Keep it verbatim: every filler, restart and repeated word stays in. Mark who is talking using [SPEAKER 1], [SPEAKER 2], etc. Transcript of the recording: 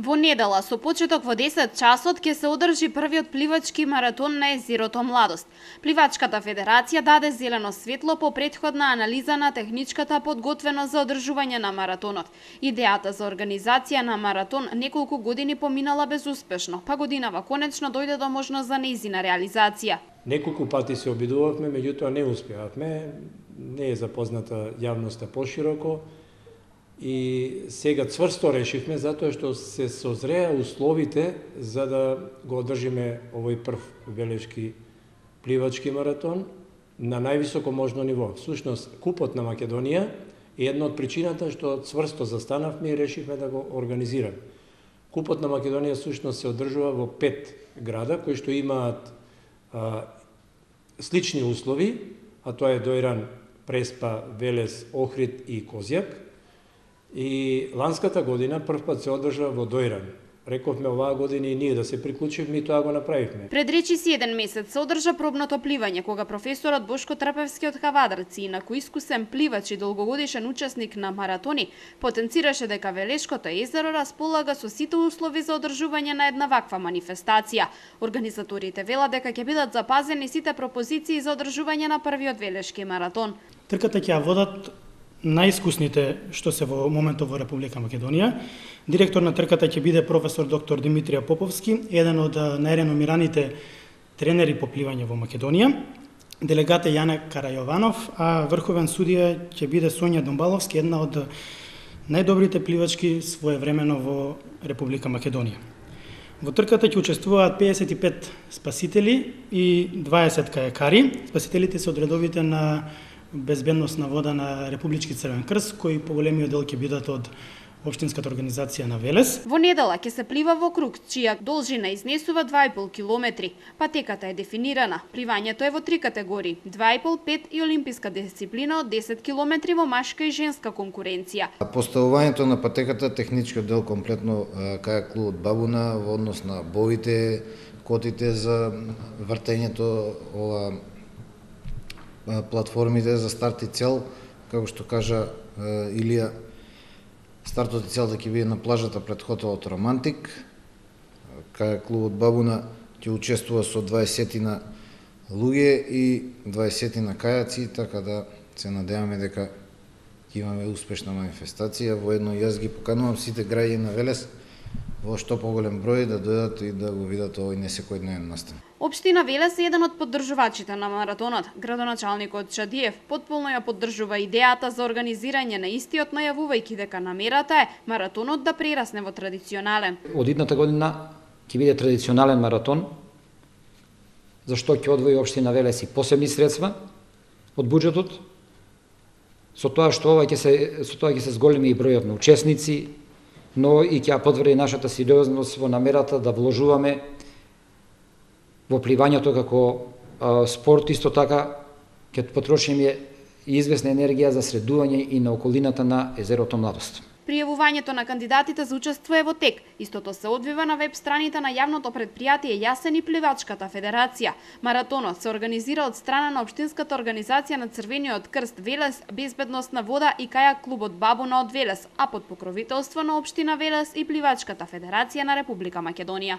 [SPEAKER 1] Во недела со почеток во десет часот ќе се одржи првиот пливачки маратон на езерото Младост. Пливачката федерација даде зелено светло по претходна анализа на техничката подготвеност за одржување на маратонот. Идејата за организација на маратон неколку години поминала безуспешно, па годинава конечно дојде до можност за нејзина реализација.
[SPEAKER 2] Неколку пати се обидувавме, меѓутоа не успеавме. Не е запозната јавноста пошироко. И сега цврсто решивме затоа што се созреа условите за да го одржиме овој прв велешки пливачки маратон на највисоко можно ниво. Всушност, Купот на Македонија е една од причината што цврсто застанавме и решивме да го организираме. Купот на Македонија всушност се одржува во пет града кои што имаат а, слични услови, а тоа е Дојран, Преспа, Велес, Охрид и Козјак. И ланската година прв пат се одржа во Дојран. Рековме оваа година и ние да се приклучивме и тоа го направивме.
[SPEAKER 1] Пред речиси еден месец се одржа пробното пливање, кога професорот Бошко Трпевски од Кавадарци, инаку искусен пливач и долгогодишен учесник на маратони, потенцираше дека Велешкото езеро располага со сите услови за одржување на една ваква манифестација. Организаторите велат дека ќе бидат запазени сите пропозиции за одржување на првиот Велешки маратон.
[SPEAKER 3] Трката ќе ја водат најискусните што се во моментот во Република Македонија. Директор на трката ќе биде професор доктор Димитрија Поповски, еден од најреномираните тренери по пливање во Македонија. Делегат е Јане Карајованов, а врховен судија ќе биде Сонја Домбаловски, една од најдобрите пливачки своевремено во Република Македонија. Во трката ќе учествуваат педесет и пет спасители и дваесет кајакари. Спасителите се од редовите на безбедност на вода на Републички Црвен крст, кои поголемиот дел ќе бидат од Општинската организација на Велес.
[SPEAKER 1] Во недела ќе се плива во круг, чија должина изнесува два и пол километри. Патеката е дефинирана. Пливањето е во три категории: два и пол, пет и олимписка дисциплина од десет километри во машка и женска конкуренција.
[SPEAKER 4] Поставувањето на патеката, техничкиот дел комплетно кајак клубот Бабуна во однос на боите, котите за вртењето, ова платформите за старт и цел, како што кажа Илија, стартот и целта ќе биде на плажата пред хотелот Романтик. Кај клубот Бабуна ќе учествува со дваесетина луѓе и дваесетина кајаци, така да се надеваме дека ќе имаме успешна манифестација. Воедно јас ги поканувам сите граѓани на Велес во што поголем број да дојдат и да го видат овој несекојдневен настан.
[SPEAKER 1] Општина Велес е еден од поддржувачите на маратонот. Градоначалникот Чадиев потполно ја поддржува идејата за организирање на истиот, најавувајќи дека намерата е маратонот да прерасне во традиционален.
[SPEAKER 5] Од идната година ќе биде традиционален маратон, зашто ќе одвои општина Велес и посебни средства од буџетот, со тоа што ова ќе се со тоа ќе се зголеми и бројот на учесници, но и ќе потврди нашата сериозност во намерата да вложуваме во пливањето како а, спорт. Исто така ќе потрошиме и известна енергија за средување и на околината на езерото Младост.
[SPEAKER 1] Пријавувањето на кандидатите за учество е во тек. Истото се одвива на веб страните на јавното претпријатие Јасен и Пливачката федерација. Маратонот се организира од страна на Општинската организација на Црвениот крст Велес, Безбедност на вода и кајак клубот Бабуна од Велес, а под покровителство на Општина Велес и Пливачката федерација на Република Македонија.